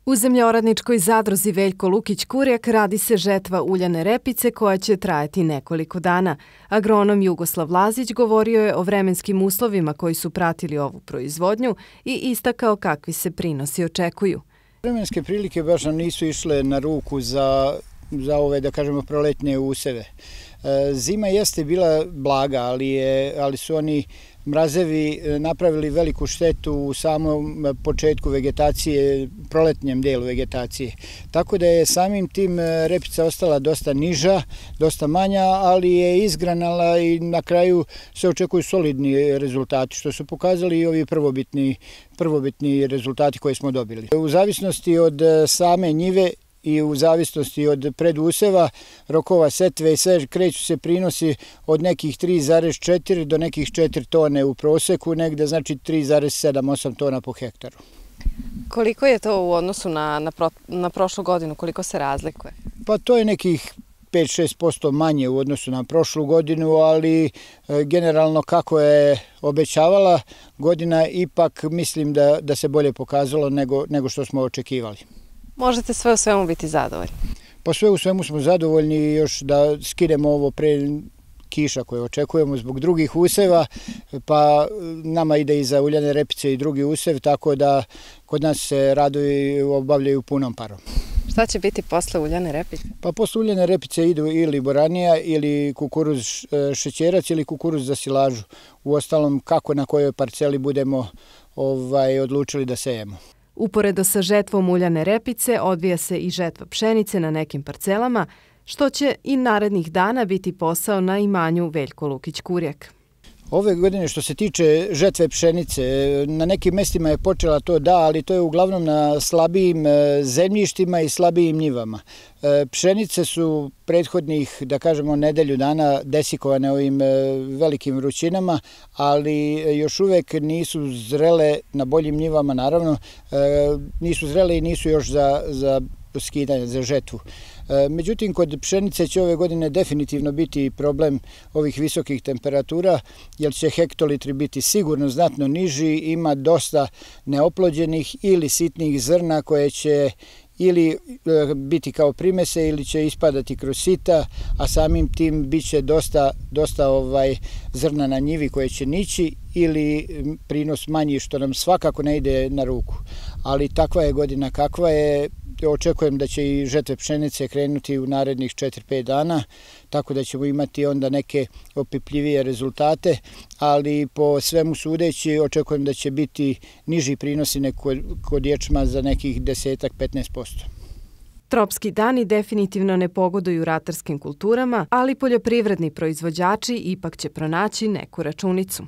U zemljoradničkoj zadruzi Veljko Lukić Kurjak radi se žetva uljane repice koja će trajati nekoliko dana. Agronom Jugoslav Lazić govorio je o vremenskim uslovima koji su pratili ovu proizvodnju i istakao kakvi se prinosi očekuju. Vremenske prilike baš nam nisu išle na ruku za ove, da kažemo, proletne useve. Zima jeste bila blaga, ali su oni mrazevi napravili veliku štetu u samom početku vegetacije, proletnjem delu vegetacije. Tako da je samim tim repica ostala dosta niža, dosta manja, ali je izgranala i na kraju se očekuju solidni rezultati, što su pokazali i ovi prvobitni rezultati koje smo dobili. U zavisnosti od same njive i u zavisnosti od preduseva, rokova setve i sve, kreću se prinosi od nekih 3,4 do nekih 4 tone u proseku, negde znači 3,7-8 tona po hektaru. Koliko je to u odnosu na prošlu godinu, koliko se razlikuje? Pa to je nekih 5-6% manje u odnosu na prošlu godinu, ali generalno kako je obećavala godina, ipak mislim da se bolje pokazalo nego što smo očekivali. Možete sve u svemu biti zadovoljni? Pa sve u svemu smo zadovoljni i još da skinemo ovo pre kiša koje očekujemo zbog drugih useva, pa nama ide i za uljane repice i drugi usev, tako da kod nas se radovi obavljaju punom parom. Šta će biti posle uljane repice? Pa posle uljane repice idu ili boranija ili kukuruz šećerac ili kukuruz za silažu. Uostalom kako na kojoj parceli budemo odlučili da sejemo. Uporedo sa žetvom uljane repice odvija se i žetva pšenice na nekim parcelama, što će i narednih dana biti posao na imanju Veljko Lukić Kurjak. Ove godine što se tiče žetve pšenice, na nekim mestima je počela to ali to je uglavnom na slabijim zemljištima i slabijim njivama. Pšenice su prethodnih, da kažemo, nedelju dana desikovane ovim velikim vrućinama, ali još uvek nisu zrele na boljim njivama, naravno, nisu zrele i nisu još za skidanje, za žetvu. Međutim, kod pšenice će ove godine definitivno biti problem ovih visokih temperatura, jer će hektolitri biti sigurno znatno niži, ima dosta neoplođenih ili sitnih zrna koje će ili biti kao primese ili će ispadati kroz sita, a samim tim bit će dosta zrna na njivi koje će nići ili prinos manji, što nam svakako ne ide na ruku. Ali takva je godina kakva je. Očekujem da će i žetve pšenice krenuti u narednih 4-5 dana, tako da ćemo imati onda neke opipljivije rezultate, ali po svemu sudeći očekujem da će biti niži prinosi kod ječma za nekih 10-15%. Tropski dani definitivno ne pogoduju ratarskim kulturama, ali poljoprivredni proizvođači ipak će pronaći neku računicu.